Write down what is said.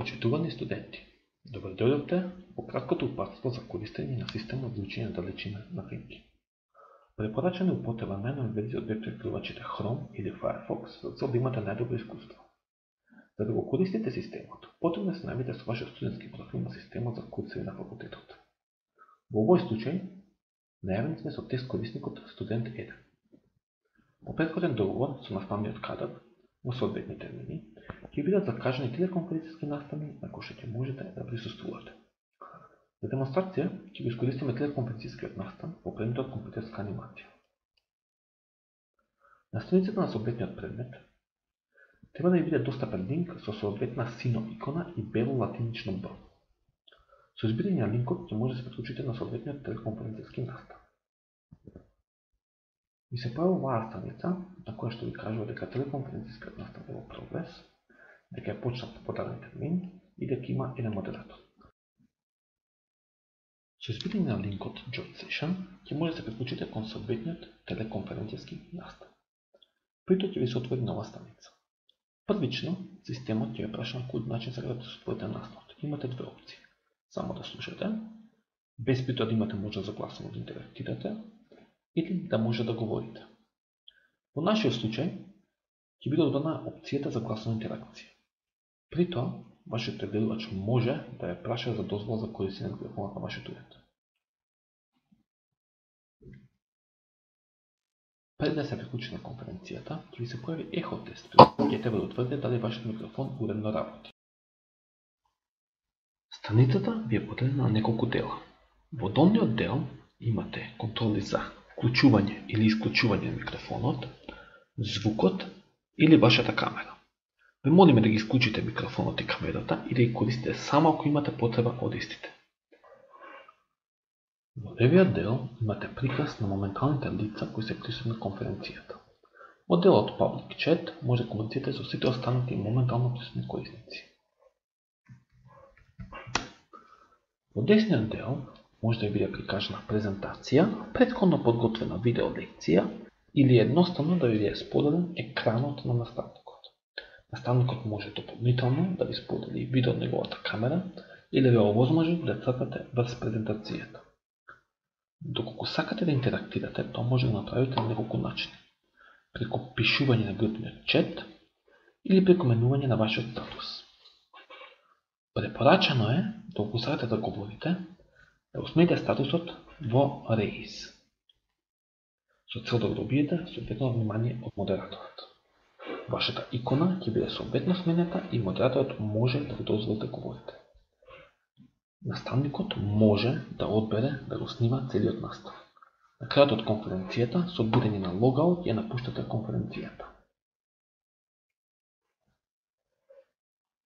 Почитувани студенти, добро дојдовте во краткото упатство за користење на системот за учење далечина на финки. Препорачана е употреба на најнови верзии од веб прекривачите Chrome или Firefox за цел да имате најдобро искуство. За да го користите системот, потребно е да се најавите со вашиот студентски профил на системот за курсеви на факултетот. Во овој случај, најавени сме со тест корисникот студент 1. По претходен договор со наставниот кадар, во соодветни термини, ќе бидат закажани телеконференциски настани на кои ќе можете да присуствувате. За демонстрација ќе го искористиме телеконференцискиот настан во предметот компјутерска анимација. На страницата на соодветниот предмет треба да ви биде достапен линк со соодветна сино икона и бело латинично Б. Со избирање на линкот ќе може да се приклучите на соодветниот телеконференциски настан. Ви се појавува оваа страница на која што ви кажува дека телеконференцискиот настан е во прогрес, дека е почнат по даден термин и дека има еден модератор. Со избирање на линкот Join Session ќе може да се приклучите кон соодветниот телеконференциски настан. При тоа ќе ви се отвори нова страница. Првично, системот ќе ве праша на кој начин сакате да се отворите настанот. Имате две опции. Само да слушате, без при тоа да имате можност за гласово да интерактирате, или да може да говорите. Во нашиот случај, ќе биде одбрана опцијата за гласна интеракција. При тоа, вашиот прегледувач може да ја праша за дозвола за користење на микрофонот на вашиот уред. Пред да се приклучи на конференцијата, ќе ви се појави ехо тест, ќе треба да утврдите дали вашиот микрофон уредно работи. Страницата ви е поделена на неколку дела. Во долниот дел имате контроли за вклучување или исклучување на микрофонот, звукот или вашата камера. Ве молиме да ги исклучите микрофонот и камерата и да ги користите само ако имате потреба од истите. Во левиот дел имате приказ на моменталните лица кои се присутни на конференцијата. Во делот Public Chat може да комуницирате со сите останати моментално присутни корисници. Во десниот дел може да биде прикажана презентација, претходно подготвена видео лекција или едноставно да ви биде споделен екранот на наставникот. Наставникот може дополнително да ви сподели видео од неговата камера или да ви овозможи да цртате врз презентацијата. Доколку сакате да интерактирате, тоа може да направите на неколку начини. Преку пишување на групниот чат или преку менување на вашиот статус. Препорачано е, доколку сакате да говорите, да усмените статусот во Raise, со цел да го добиете соодветно внимание од модераторот. Вашата икона ќе биде соодветно сменета и модераторот може да ви дозволи да говорите. Наставникот може да одбере да го снима целиот настан. На крајот од конференцијата, со одбирање на логаут ја напуштате конференцијата.